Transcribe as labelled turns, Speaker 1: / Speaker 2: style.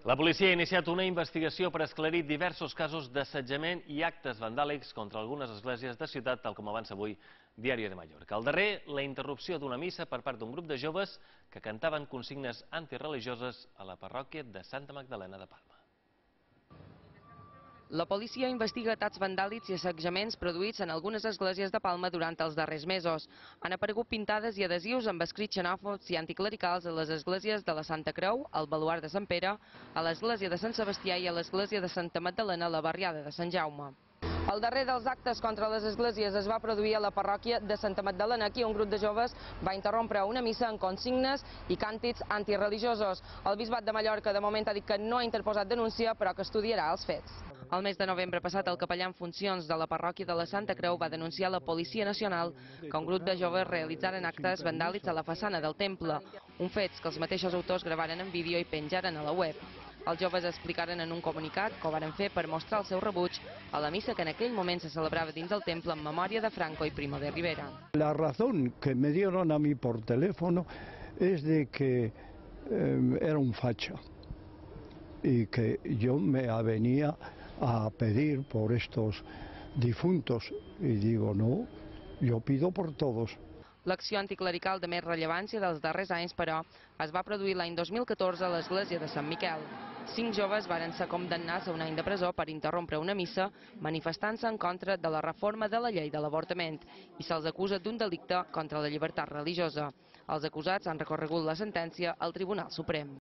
Speaker 1: La policia ha iniciat una investigació per esclarir diversos casos d'assetjament i actes vandàlics contra algunes esglésies de ciutat, tal com avança avui Diari de Mallorca. El darrer, la interrupció d'una missa per part d'un grup de joves que cantaven consignes antireligioses a la parròquia de Santa Magdalena de Palma.
Speaker 2: La policia investiga atacs vandàlics i assetjaments produïts en algunes esglésies de Palma durant els darrers mesos. Han aparegut pintades i adhesius amb escrits xenòfobs i anticlericals a les esglésies de la Santa Creu, al Baluard de Sant Pere, a l'església de Sant Sebastià i a l'església de Santa Magdalena a la barriada de Sant Jaume. El darrer dels actes contra les esglésies es va produir a la parròquia de Santa Magdalena. Aquí un grup de joves va interrompre una missa amb consignes i càntics antireligiosos. El bisbat de Mallorca de moment ha dit que no ha interposat denúncia, però que estudiarà els fets. El mes de novembre passat, el capellà en funcions de la parròquia de la Santa Creu va denunciar a la Policia Nacional que un grup de joves realitzaren actes vandàlics a la façana del temple, un fet que els mateixos autors gravaren en vídeo i penjaren a la web. Els joves explicaren en un comunicat que ho varen fer per mostrar el seu rebuig a la missa que en aquell moment se celebrava dins del temple en memòria de Franco y Primo de Rivera.
Speaker 3: La razón que me dieron a mí por teléfono es de que era un facha y que yo me venía a pedir por estos difuntos y digo no, yo pido por todos.
Speaker 2: L'acció anticlerical de més rellevància dels darrers anys, però, es va produir l'any 2014 a l'església de Sant Miquel. 5 joves varen ser condemnats a un any de presó per interrompre una missa manifestant-se en contra de la reforma de la llei de l'avortament i se'ls acusa d'un delicte contra la llibertat religiosa. Els acusats han recorregut la sentència al Tribunal Suprem.